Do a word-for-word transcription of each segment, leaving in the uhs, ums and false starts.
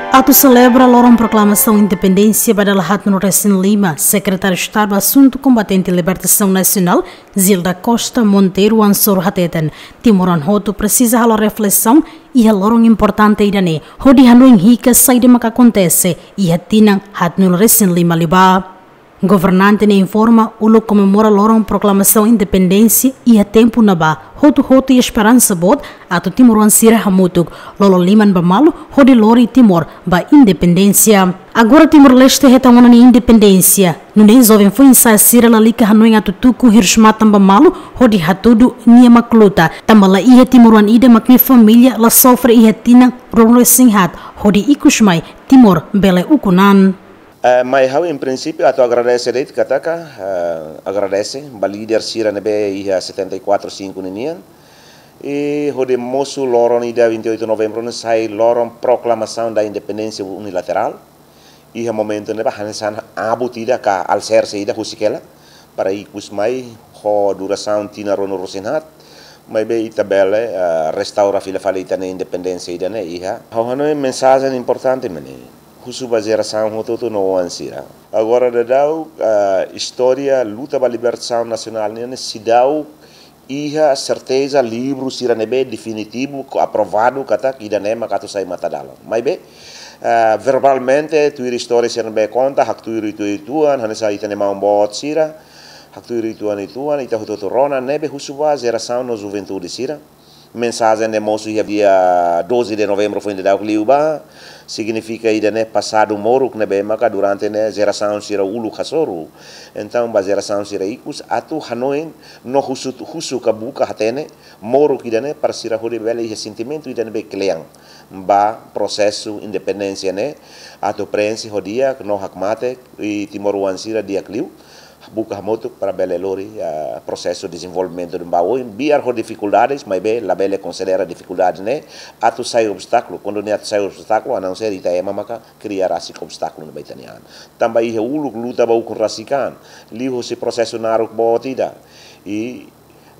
Atu selebra loron proklamasaun independénsia ba dala haat nulu resin lima, Sekretáriu Estadu Asuntu Kombatente Libertasaun Nasionál, Zilda Costa Monteiro Ansoro hateten, timoroan hotu presiza halo reflesaun iha loron importante ida-ne'e, hodi hanoin hikas saida maka akontese iha tinan haat nulu resin lima liubá. Governante ne'e informa, uluk komemora loron proklamasaun independénsia iha tempu ne'ebá, hotu-hotu iha esperansa boot atu timoroan sira hamutuk, lolo liman ba malu hodi lori Timor ba independénsia. Agora Timor-Leste hetan ona nia independénsia, nune'e joven foin-sa'e sira lalika hanoin atu tuku hirus-matan ba malu hodi hatudu nia mak luta, tanba la iha timoroan ida mak nia família la sofre iha tinan ruanulu resin haat, hodi ikus mai Timor bele ukun an. Eh, mai ha'u, em princípio, atu agradese de'it katak, eh, agradese ba líder sira ne'ebé iha setenta e quatro cinco ninian. I hodi mosu loron ida vinte e oito novembro ne'e sai loron proclamação da independência unilateral. Iha momentu ne'ebá hanesan abut ida ka alicerce ida husik hela para ikus mai ho durasaun tinan ruanulu resin haat, maibé ita bele, eh, restaura fila fali ita-nia independénsia ida-ne'e iha. Ha'u hanoin mensajen importante mak ne'e. Husu ba jerasaun hotu-hotu no oan sira. Agora daudaun, eh, istória luta ba libertasaun nasionál nian ne'e seidauk iha serteza livru sira ne'ebé definitivu, ko aprovadu katak ida-ne'e mak atu sai matadalan. Maibé, eh, verbalmente, tuir istória sira ne'ebé konta, haktuir uitoan-uitoan, hanesan ita-nia maun boot sira, haktuir uitoan-uitoan, ita hotu-hotu rona, ne'ebé husu ba jerasaun no juventude sira. Mensajen ne'e mosu iha dia doze de novembro foin daudauk liubá, signifika ida-ne'e pasadu moruk ne'ebé maka durante ne'e jerasaun sira uluk hasoru. Entaun, ba jerasaun sira ikus, atu hanoin no husu, husu ka buka hatene moruk ida-ne'e para sira hodi bele iha sentimentu ida ne'ebé kle'an ba prosesu independénsia ne'e, atu prenxe ho di'ak no hakmatek, i timoroan sira di'ak liu buka hamutuk para bele lori, ah, prosesu dezenvolvimentu ne'ebá oin, biar ho difikuldades, maibé labele konsidera difikuldade ne'e atu sai obstákulu. Kuandu ne'e atu sai obstákulu, a não ser ita ema maka kria rasik obstákulu ne'e ba ita-nia an. Tanba iha uluk luta ba ukun rasik an, liuhusi prosesu naruk boot ida, i,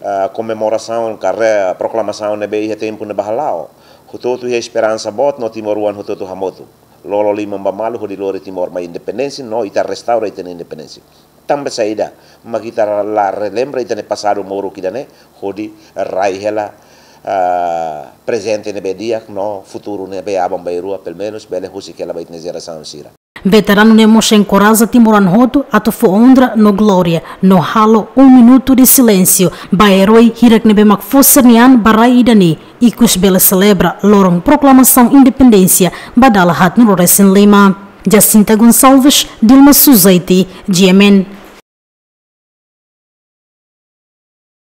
ah, komemorasaun ka re-, proklamasaun ne'ebé iha tempu ne'ebá hala'o, hotu-hotu iha esperansa boot no timoroan hotu-hotu hamutuk lolo liman ba malu hodi lori Timor mai independénsia, no ita restaura ita-nia independénsia. Tanba saida mak ita la relembra ita-nia pasadu moruk ida-ne'e, hodi rai hela, ah, prezente ne'ebé di'ak no futuru ne'ebé aban-bainrua, pelumenus, bele husik hela ba ita-nia jerasaun sira. Veteranu ne'e mós enkoraja timoroan hotu atu fó onra no glória, no halo um minuto de silêncio ba erói hirak ne'ebé mak fó sira-nia an ba rai ida-ne'e, ikus bele selebra loron proklamasaun independénsia ba dala haat nulu resin lima. Jacinta Gonçalves, Dilma Suzeiti, G M N.